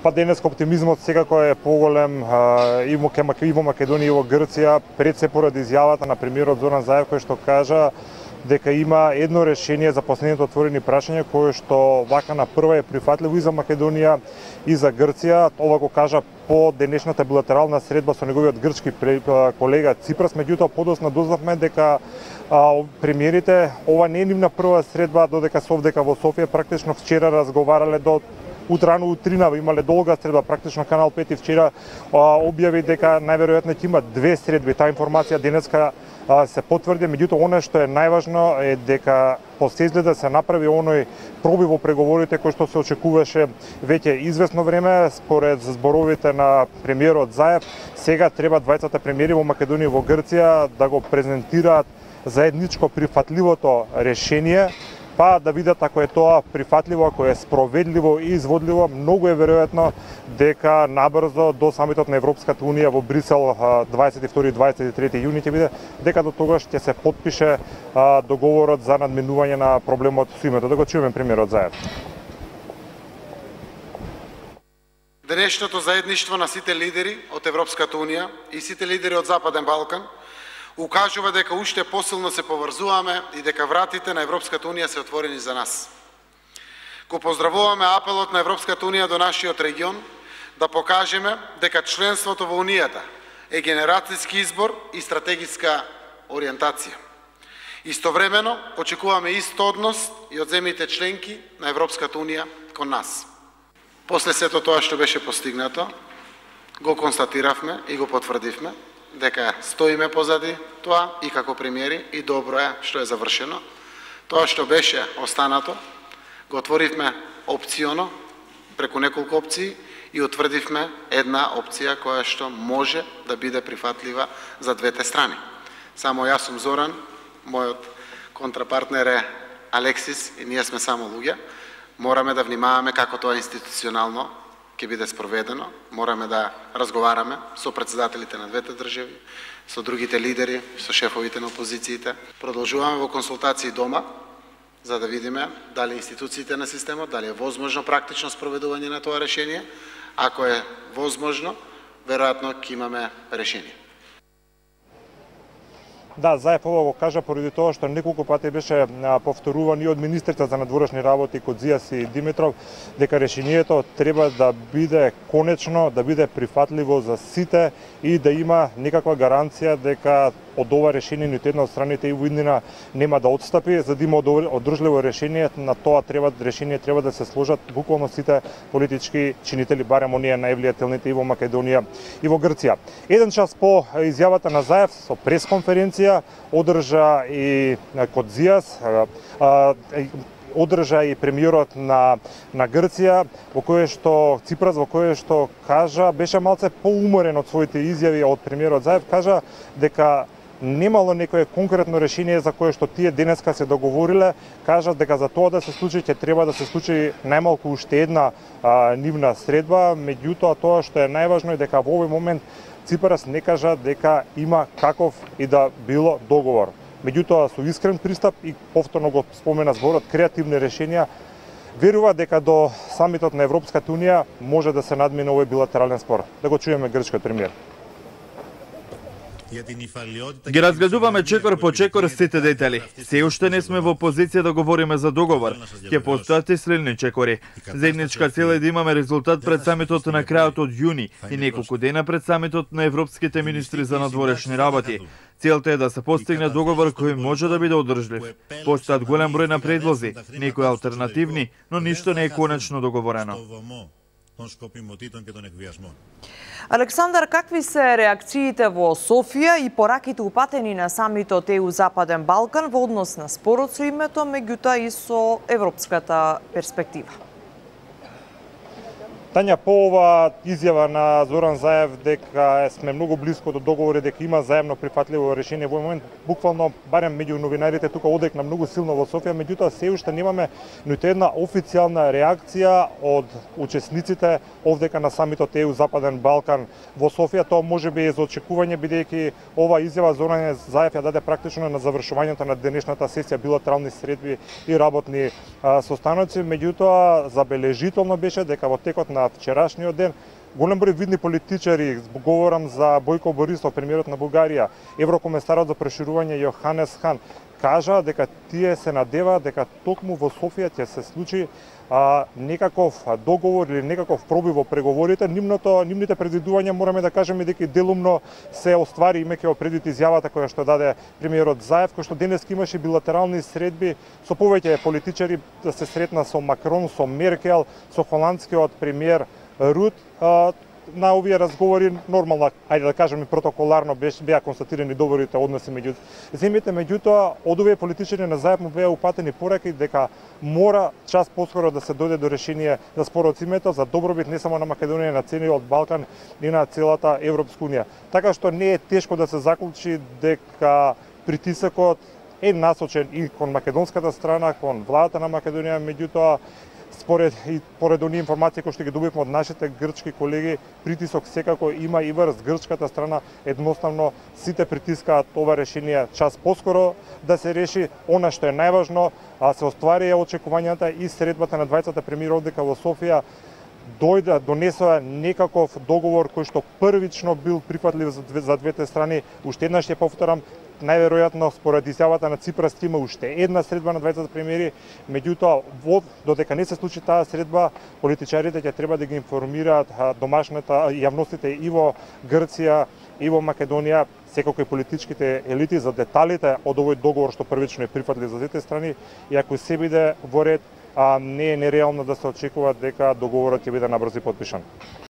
Па денеска оптимизмот секако е поголем и во Македонија и во Грција, пред се поради изјавата на премиерот Зоран Заев кој што кажа дека има едно решение за последните отворени прашања кое што вака на прва е прифатливо и за Македонија и за Грција. Ова го кажа по денешната билатерална средба со неговиот грчки колега Ципрас, меѓутоа подоцна дознавме дека премиерите ова не е нивна прва средба додека се овдека во Софија, практично вчера разговарале до утрано утринава, имале долга средба, практично Канал 5 вчера објави дека најверојатно ќе има две средби. Таа информација денеска се потврди, меѓутоа она што е најважно е дека после изгледа се направи оној пробив во преговорите кој што се очекуваше веќе известно време. Според зборовите на премиерот Заев, сега треба двајцата премиери во Македонија и во Грција да го презентираат заедничко прифатливото решение, па да видат ако е тоа прифатливо, ако е спроведливо и изводливо. Многу е веројатно дека набрзо до самитот на Европската Унија во Брисел 22-23 јуни ќе биде, дека до тогаш ќе се потпише договорот за надминување на проблемот со името. Да го чуеме премиерот Заев. Денешното заедништво на сите лидери од Европската Унија и сите лидери од Западен Балкан укажува дека уште посилно се поврзуваме и дека вратите на Европската Унија се отворени за нас. Го поздравуваме апелот на Европската Унија до нашиот регион да покажеме дека членството во Унијата е генерацијски избор и стратегиска ориентација. Истовремено очекуваме ист однос и од земјите членки на Европската Унија кон нас. После сето тоа што беше постигнато, го констатиравме и го потврдивме дека стоиме позади тоа и како премиери и добро е што е завршено. Тоа што беше останато, го отворивме опционо, преку неколку опции и утврдивме една опција која што може да биде прифатлива за двете страни. Само јас сум Зоран, мојот контрапартнер е Алексис и ние сме само луѓе. Мораме да внимаваме како тоа институционално ќе биде спроведено, мораме да разговараме со претседателите на двете држави, со другите лидери, со шефовите на опозициите. Продолжуваме во консултации дома, за да видиме дали институциите на системот, дали е возможно практично спроведување на тоа решение. Ако е возможно, веројатно ќе имаме решение. Да, Заев ова го кажа поради тоа што неколку пати беше повторуван и од министрите за надворешни работи Кодзијас и Димитров дека решението треба да биде конечно, да биде прифатливо за сите и да има некаква гаранција дека од ова решение ниту една од страните и воеднина нема да отстапи. За да има одржливо решение, на тоа решение треба да се сложат буквално сите политички чинители, барем оние највлијателните и во Македонија и во Грција. Еден час по изјавата на Заев со пресконференција одржа и Кодзијас, одржа и премиерот на Грција, во кое што Ципрас, во кое што кажа, беше малце поуморен од своите изјави од премиерот Заев, кажа дека немало некое конкретно решение за кое што тие денеска се договориле, кажат дека за тоа да се случи ќе треба да се случи најмалку уште една нивна средба, меѓутоа тоа што е најважно е дека во овој момент Ципрас не кажа дека има каков и да било договор. Меѓутоа со искрен пристап и повторно го спомена зборот креативни решенија, верува дека до самитот на Европската Унија може да се надмине овој билатерален спор. Да го чуеме грчкиот премиер. Ги разгледуваме чекор по чекор сите детали. Се уште не сме во позиција да говориме за договор. Ќе постојат и следни чекори. Заедничка цел е да имаме резултат пред самитот на крајот од јуни и неколку дена пред самитот на европските министри за надворешни работи. Целта е да се постигне договор кој може да биде одржлив. Постојат голем број на предлози, некои алтернативни, но ништо не е конечно договорено. Александар, какви се реакциите во Софија и пораките упатени на самитот ЕУ Западен Балкан во однос на спорот со името, меѓутоа и со европската перспектива? Тања, по ова изјава на Зоран Заев дека сме многу близко до договори, дека има заемно прифатливо решение во момент, буквално барем меѓу новинарите тука одекна многу силно во Софија, меѓутоа се уште немаме ниту една официјална реакција од учесниците овдека на самитот ЕУ Западен Балкан во Софија. Тоа можеби е за очекување, бидејќи ова изјава Зоран Заев ја даде практично на завршувањето на денешната сесија билатерални средби и работни состаноци, меѓутоа забележително беше дека во текот на на вчерашниот ден, голем број видни политичари, говорам за Бојко Борисов, премиерот на Бугарија, еврокомесарот за проширување Јоханес Хан, кажа дека тие се надеваат дека токму во Софија ќе се случи некаков договор или некаков пробив во преговорите. Нивните предвидувања мораме да кажеме дека и делумно се оствари, имајќи предвид изјавата која што даде премиерот Заев, кој што денес имаше билатерални средби со повеќе политичари, да се сретна со Макрон, со Меркел, со холандскиот премиер Рут. На овие разговори нормално, ајде да кажеме протоколарно, беа констатирани добрите односи меѓу земјите, меѓутоа од овие политичари на Заев му беа упатени пораки дека мора час поскоро да се дојде до решение за спорот името за добробит не само на Македонија, на целиот Балкан и на целата Европска унија. Така што не е тешко да се заклучи дека притисокот е насочен и кон македонската страна, кон владата на Македонија, меѓутоа поред оние информации кои што ги добивме од нашите грчки колеги, притисок секако има и врз грчката страна. Едноставно сите притискаат ова решение час поскоро да се реши. Она што е најважно, се остварија очекувањата и средбата на двајцата премиери дека во Софија донесоа некаков договор кој што првично бил прифатлив за двете страни. Уште еднаш ќе повторам, најверојатно според изјавата на Ципрас ќе има уште една средба на двајцата премиери, меѓутоа додека не се случи таа средба, политичарите ќе треба да ги информираат домашната јавностите и во Грција и во Македонија, секако и политичките елити за деталите од овој договор што првично е прифатлив за двете страни, и ако се биде во ред, не е нереално да се очекува дека договорот ќе биде набрзо подпишан.